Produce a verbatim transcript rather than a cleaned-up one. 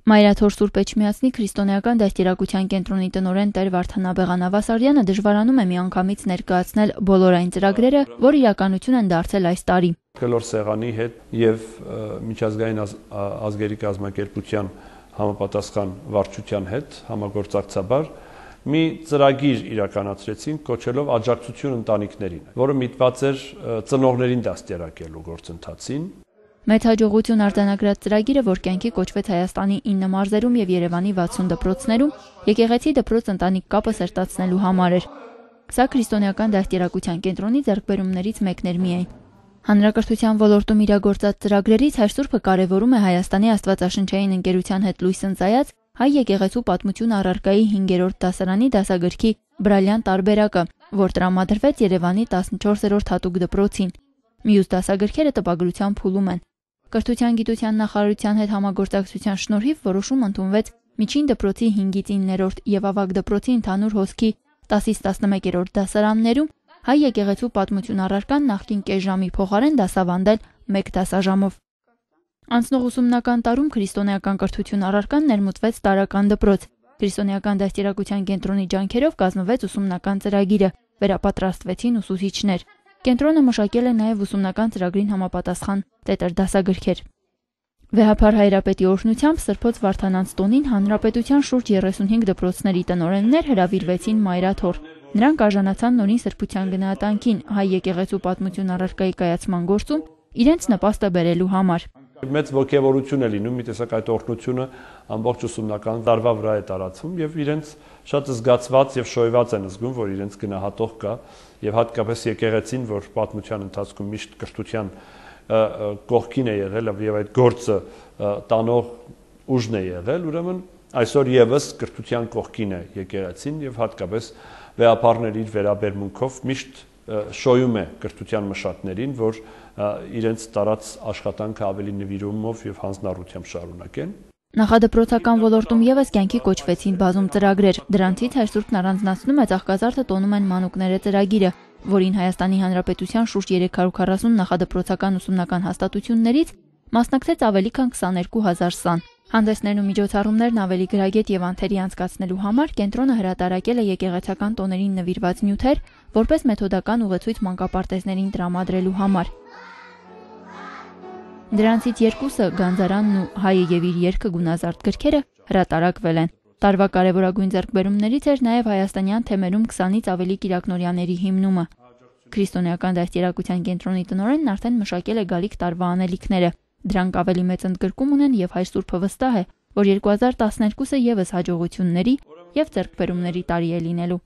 Մայրաթոր Սուրբ Էջմիածնի քրիստոնեական դաստիարակության կենտրոնի տնօրեն Տեր Վարդան Աբեղանավասարյանը դժվարանում է միանգամից ներկայացնել բոլոր այն ծրագրերը, որ իրականություն են դարձել այս տարի։ Կլոր սեղանի հետ եւ միջազգային ազգերի կազմակերպության համապատասխան վարչության հետ համագործակցաբար մի ծրագիր իրականացրեցին, կոչելով աջակցություն ընտանիքներին, որը միտված էր ծնողներին դաստիարակելու գործընթացին։ Մեծ հաջողություն արձանագրած ծրագիրը, որ կյանքի կոչվեց Հայաստանի ինը մարզերում եւ Երևանի վաթսուն դպրոցներում, եկեղեցի դպրոց ընտանիք կապը սերտացնելու համար էր։ Սա քրիստոնեական դաստիարակության կենտրոնի ձեռքբերումներից մեկն էր միայն։ Հանրակրթության ոլորտում իրագործած ծրագրերից Հայր Սուրբը կարևորում է Հայաստանի Աստվածաշնչային ընկերության հետ լույս ընծայած հայ եկեղեցու պատմություն առարկայի հինգերորդ դասարանի դասագրքի բրալյան տարբերակը, որ տրամադրվեց Երևանի տասնչորսերորդ հատուկ դպրոցին։ Մյուս դասագրքերը տպագրության փուլում են։ Կրթության գիտության նախարարության հետ համագործակցության շնորհիվ որոշում ընդունվեց միջին դպրոցի հինգից իններորդ եւ ավագ դպրոցի ընդհանուր հոսքի տասից տասնմեկերորդ դասարաններում հայ եկեղեցու պատմություն առարկան նախկին կես ժամի փոխարեն դասավանդել մեկ դասաժամով։ Անցնող ուսումնական տարում քրիստոնեական կրթություն առարկան ներմուծվեց տարրական դպրոց։ Քրիստոնեական դաստիարակության կենտրոնի ջանքերով կազմվեց ուսումնական ծրագիրը, վերապատրաստվեցին ուսուցիչներ։ Կենտրոնը մշակել է նաև ուսումնական ծրագրին համապատասխան տետր դասագրքեր։ Վեհափար Հայրապետի օրհնությամբ Սրբոց Վարդանանց տոնին հանրապետության շուրջ երեսունհինգ դպրոցների տնօրեններ հրավիրվեցին Մայրաթոր։ Նրանք արժանացան նորին սրբության գնահատանքին հայ եկեղեցու պատմություն առարկայի կայացման գործում իրենց նպաստը բերելու համար։ Մեծ ոգևորություն է լինում, մի տեսակ այդ օրհնությունը ամբողջ ուսումնական տարվա վրա է տարածվում եւ իրենց շատ զգացված եւ շոյված են զգում, որ իրենց գնահատող կա եւ հատկապես եկեղեցին, որ պատմության ընթացքում միշտ կրթության կողքին է եղել եւ այդ գործը տանող ուժն է եղել, ուրեմն այսօր եւս կրթության կողքին է եկեղեցին եւ հատկապես վեհապարների իր վերաբերմունքով միշտ շոյում է կրթության մշակներին, որ իրենց տարած աշխատանքը ավելի նվիրումով եւ հանձնառությամբ շարունակեն։ Նախադպրոցական ոլորտում եւս կյանքի կոչվեցին բազում ծրագրեր։ Դրանցից Հայր Սուրբն առանձնացնում է Ծաղկազարդը տոնում են մանուկները ծրագիրը, որին Հայաստանի Հանրապետության շուրջ երեք հարյուր քառասուն նախադպրոցական ուսումնական հաստատություններից մասնակցեց ավելի քան քսաներկու հազար սան։ Հանդեսներն ու միջոցառումներն ավելի գրագետ եւ անթերի անցկացնելու համար կենտրոնը հրատարակել է եկեղեցական տոներին նվիրված նյութեր, որպես մեթոդական ուղեցույց մանկապարտեզներին տրամադրելու համար։ Դրանցից երկուսը Գանձարանն ու Հայը եւ իր երգը գունազարդ գրքերը հրատարակվել են։ Տարվա կարևորագույն ձեռքբերումներից էր նաեւ հայաստանյան թեմերում քսանից ավելի կիրակնորյաների հիմնումը։ Քրիստոնեական դաստիարակության կենտրոնի տնօրենն արդեն մշակել է գալիք տարվա անելիքները։ Դրանք ավելի մեծ ընդգրկում ունեն եւ Հայր Սուրբը վստահ է, որ երկու հազար տասներկուսը եւս հաջողությունների եւ ձեռքբերումների տարի է լինելու։